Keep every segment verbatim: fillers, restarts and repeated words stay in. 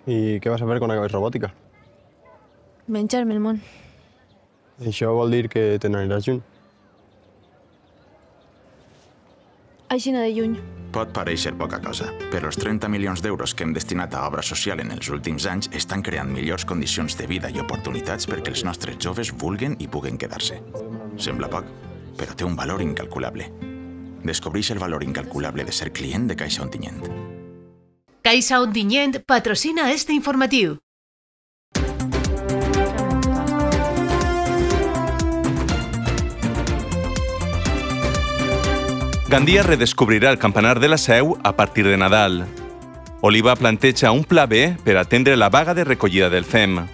I què vas a fer quan acabes robòtica? Menjar-me el món. Això vol dir que te n'aniràs lluny. Aixina de lluny. Pot parèixer poca cosa, però els trenta milions d'euros que hem destinat a obra social en els últims anys estan creant millors condicions de vida i oportunitats perquè els nostres joves vulguen i puguen quedar-se. Sembla poc, però té un valor incalculable. Descobreix el valor incalculable de ser client de Caixa Ontinyent. Caixa Ontinyent patrocina este informatiu. Gandia redescobrirà el campanar de la Seu a partir de Nadal. Oliva planteja un pla B per atendre la vaga de recollida del F E M.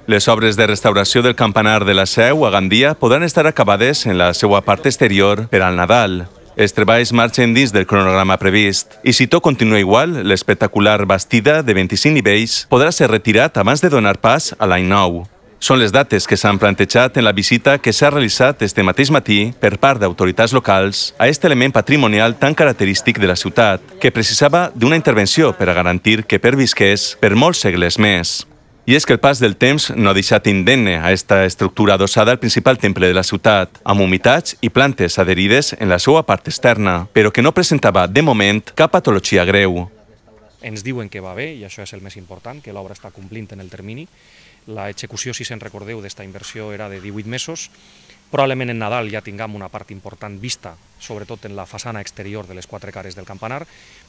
Les obres de restauració del campanar de la Seu a Gandia podran estar acabades en la seva part exterior per al Nadal. Els treballs marxen dins del cronograma previst i si tot continua igual, l'espectacular bastida de vint-i-cinc nivells podrà ser retirat abans de donar pas a l'any nou. Són les dates que s'han plantejat en la visita que s'ha realitzat este mateix matí per part d'autoritats locals a aquest element patrimonial tan característic de la ciutat, que precisava d'una intervenció per a garantir que pervisqués per molts segles més. I és que el pas del temps no ha deixat indemne a esta estructura adossada al principal temple de la ciutat, amb humitats i plantes adherides en la seva part externa, però que no presentava, de moment, cap patologia greu. Ens diuen que va bé, i això és el més important, que l'obra està complint en el termini. L'execució, si se'n recordeu, d'esta inversió era de divuit mesos. Probablement en Nadal ja tinguem una part important vista, sobretot en la façana exterior de les quatre cares del campanar,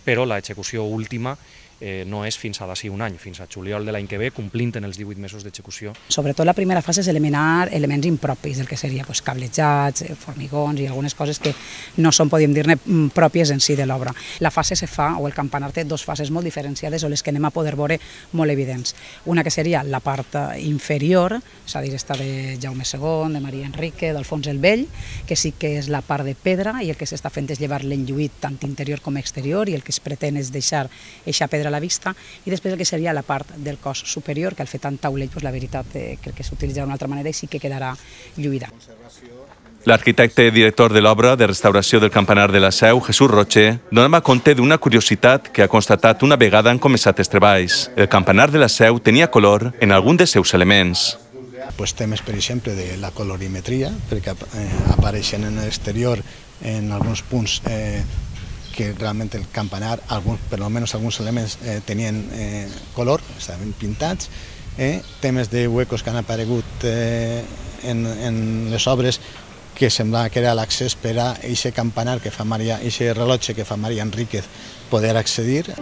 però l'execució última eh, no és fins a d'ací un any, fins a juliol de l'any que ve, complint en els divuit mesos d'execució. Sobretot la primera fase és eliminar elements impropis, del que seria pues, cablejats, formigons i algunes coses que no són, podríem dir-ne, pròpies en si de l'obra. La fase se fa, o el campanar té dues fases molt diferenciades o les que anem a poder veure molt evidents. Una que seria la part inferior, és a dir, esta de Jaume segon, de Maria Enrique, d'Alfons el Vell, que sí que és la part de pedra i el que s'està fent és llevar l'enlluït tant interior com exterior i el que es pretén és deixar eixa pedra a la vista, i després el que seria la part del cos superior, que al fer tant taulell, doncs la veritat eh, crec que s'utilitzarà d'una altra manera i sí que quedarà lluïda. L'arquitecte director de l'obra de restauració del campanar de la Seu, Jesús Roche, donava compte d'una curiositat que ha constatat una vegada han començat els treballs. El campanar de la Seu tenia color en algun dels seus elements. Pues temes, per exemple, de la colorimetria, perquè eh, apareixen en l'exterior en alguns punts eh, que realment el campanar, alguns, per almenys alguns elements, eh, tenien eh, color, estaven pintats. Eh, temes de huecos que han aparegut eh, en, en les obres que semblava que era l'accés per a aquest campanar que fa Maria, aquest rellotge que fa Maria Enríquez poder accedir.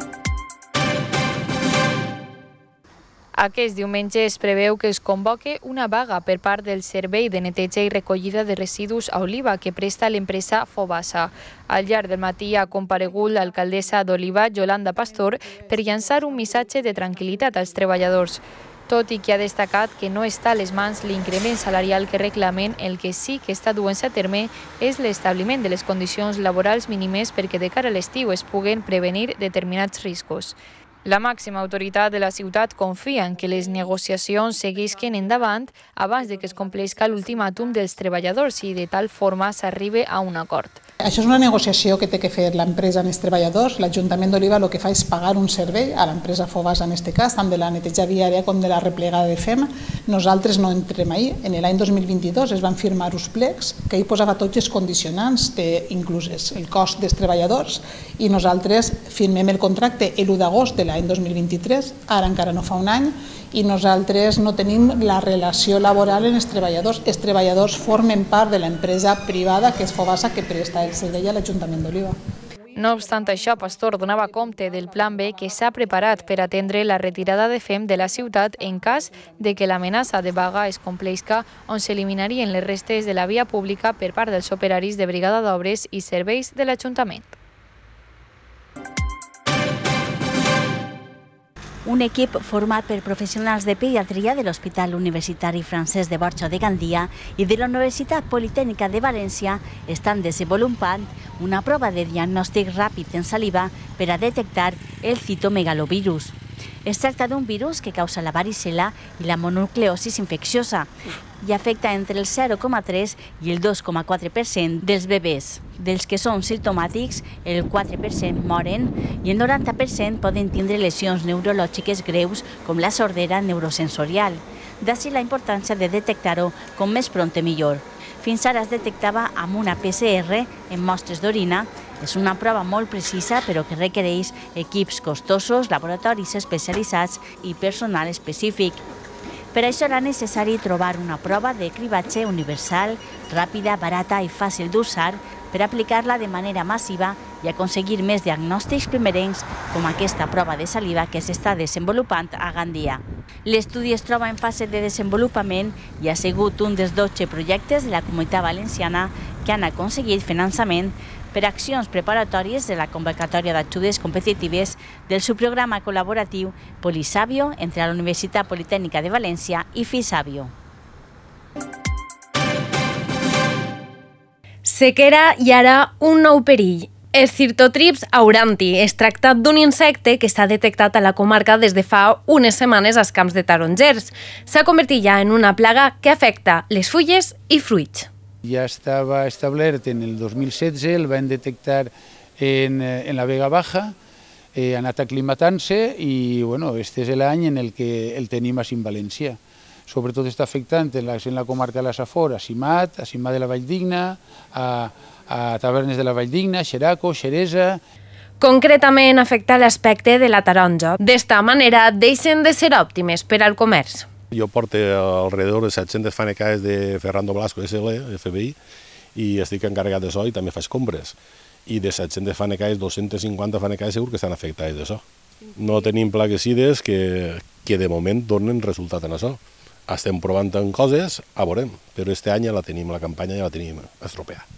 Aquest diumenge es preveu que es convoque una vaga per part del Servei de Neteja i Recollida de Residus a Oliva que presta l'empresa Fobasa. Al llarg del matí ha comparegut l'alcaldessa d'Oliva, Yolanda Pastor, per llançar un missatge de tranquil·litat als treballadors. Tot i que ha destacat que no està a les mans l'increment salarial que reclamen, el que sí que està duent-se a terme és l'establiment de les condicions laborals mínimes perquè de cara a l'estiu es puguen prevenir determinats riscos. La màxima autoritat de la ciutat confia en que les negociacions seguisquen endavant abans de que es compleixi l'ultimàtum dels treballadors i de tal forma s'arribi a un acord. Això és una negociació que té que fer l'empresa amb els treballadors. L'Ajuntament d'Oliva el que fa és pagar un servei a l'empresa Fobasa en aquest cas, tant de la neteja viària com de la replegada de F E M. Nosaltres no entrem ahí. En l'any dos mil vint-i-dos es van firmar uns plecs que hi posava tots els condicionants, incluses el cost dels treballadors, i nosaltres firmem el contracte l'u d'agost de l'any dos mil vint-i-tres, ara encara no fa un any, i nosaltres no tenim la relació laboral en els treballadors. Els treballadors formen part de l'empresa privada que és Fobasa, que presta el servei a l'Ajuntament d'Oliva. No obstant això, Pastor donava compte del plan B que s'ha preparat per atendre la retirada de F E M de la ciutat en cas de que l'amenaça de vaga es compleixi, on s'eliminarien les restes de la via pública per part dels operaris de brigada d'obres i serveis de l'Ajuntament. Un equip format per professionals de pediatria de l'Hospital Universitari Francesc de Borja de Gandia i de la Universitat Politècnica de València estan desenvolupant una prova de diagnòstic ràpid en saliva per a detectar el citomegalovirus. Es tracta d'un virus que causa la varicel·la i la mononucleosis infecciosa i afecta entre el zero coma tres i el dos coma quatre per cent dels bebès. Dels que són simptomàtics, el quatre per cent moren i el noranta per cent poden tindre lesions neurològiques greus com la sordera neurosensorial. D'ací la importància de detectar-ho com més pront millor. Fins ara es detectava amb una P C R en mostres d'orina. És una prova molt precisa, però que requereix equips costosos, laboratoris especialitzats i personal específic. Per això era necessari trobar una prova de cribatge universal, ràpida, barata i fàcil d'usar per aplicar-la de manera massiva i aconseguir més diagnòstics primerencs com aquesta prova de saliva que s'està desenvolupant a Gandia. L'estudi es troba en fase de desenvolupament i ha sigut un dels dotze projectes de la Comunitat Valenciana que han aconseguit finançament per accions preparatòries de la convocatòria d'ajudes competitives del subprograma col·laboratiu Polisabio entre la Universitat Politècnica de València i Fisabio. Sequera i ara un nou perill. El Cirtotrips auranti es tracta d'un insecte que s'ha detectat a la comarca des de fa unes setmanes als camps de tarongers. S'ha convertit ja en una plaga que afecta les fulles i fruits. Ja estava establert en el dos mil setze, el van detectar en, en la Vega Baja, eh, ha anat aclimatant-se i bueno, este és l'any en el que el tenim a Cim València. Sobretot està afectant en la, en la comarca de la Safor, a Simat, a Simat de la Valldigna, a, a Tavernes de la Valldigna, Xeraco, Xeresa. Concretament afecta l'aspecte de la taronja. D'esta manera deixen de ser òptimes per al comerç. Jo porto alrededor de set-centes fanecades de Ferrando Blasco S L, F B I, i estic encarregat d'això i també faig compres. I de set-centes fanecades, dos-centes cinquanta fanecades segur que estan afectades d'això. No tenim plaguicides que, que de moment donen resultat en això. Estem provant en coses, a veurem, però este any ja la tenim, la campanya ja la tenim estropeada.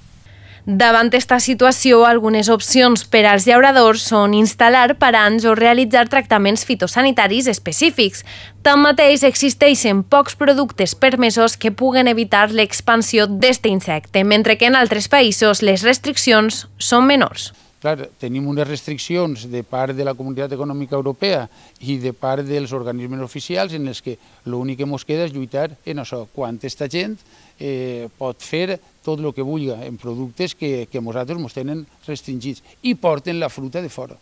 Davant esta situació, algunes opcions per als llauradors són instal·lar paranys o realitzar tractaments fitosanitaris específics. Tanmateix, existeixen pocs productes permesos que puguen evitar l'expansió d'aquest insecte, mentre que en altres països les restriccions són menors. Clar, tenim unes restriccions de part de la Comunitat Econòmica Europea i de part dels organismes oficials en els que l'únic que ens queda és lluitar en això, quan aquesta gent eh, pot fer tot el que vulgui en productes que, que nosaltres ens tenen restringits i porten la fruta de fora.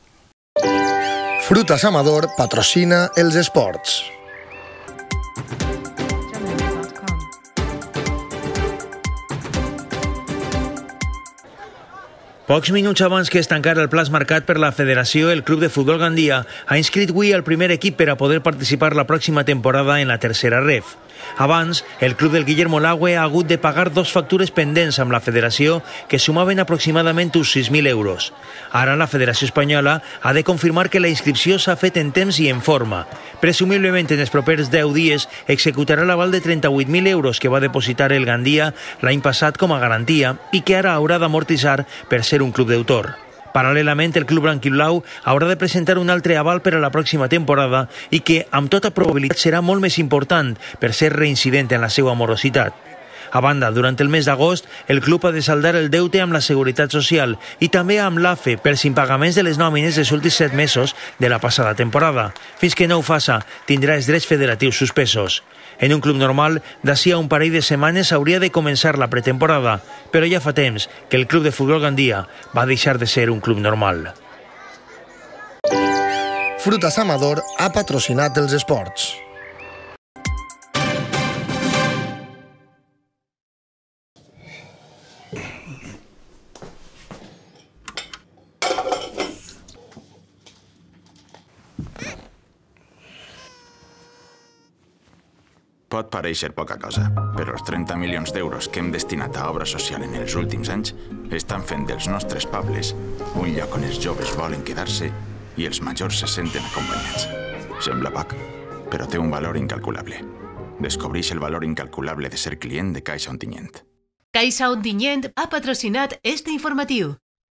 Frutas Amador patrocina els esports. Pocs minuts abans que es tancara el plaç marcat per la Federació, el Club de Futbol Gandia ha inscrit avui el primer equip per a poder participar la pròxima temporada en la tercera ref. Abans, el club del Guillermo Lagüe ha hagut de pagar dos factures pendents amb la Federació que sumaven aproximadament uns sis mil euros. Ara la Federació Espanyola ha de confirmar que la inscripció s'ha fet en temps i en forma. Presumiblement en els propers deu dies executarà l'aval de trenta-vuit mil euros que va depositar el Gandia l'any passat com a garantia i que ara haurà d'amortitzar per ser un club deutor. Paral·lelament, el club blanquiblau haurà de presentar un altre aval per a la pròxima temporada i que, amb tota probabilitat, serà molt més important per ser reincident en la seva morositat. A banda, durant el mes d'agost, el club ha de saldar el deute amb la Seguretat Social i també amb l'A F E pels impagaments de les nòmines dels últims set mesos de la passada temporada. Fins que no ho faça, tindrà els drets federatius suspesos. En un club normal, d'ací a un parell de setmanes hauria de començar la pretemporada, però ja fa temps que el Club de Futbol Gandia va deixar de ser un club normal. Frutas Amador ha patrocinat els esports. Pot pareixer poca cosa, però els trenta milions d'euros que hem destinat a obra social en els últims anys estan fent dels nostres pobles un lloc on els joves volen quedar-se i els majors se senten acompanyats. Sembla poc, però té un valor incalculable. Descobreix el valor incalculable de ser client de Caixa Ontinyent. Caixa Ontinyent ha patrocinat este informatiu.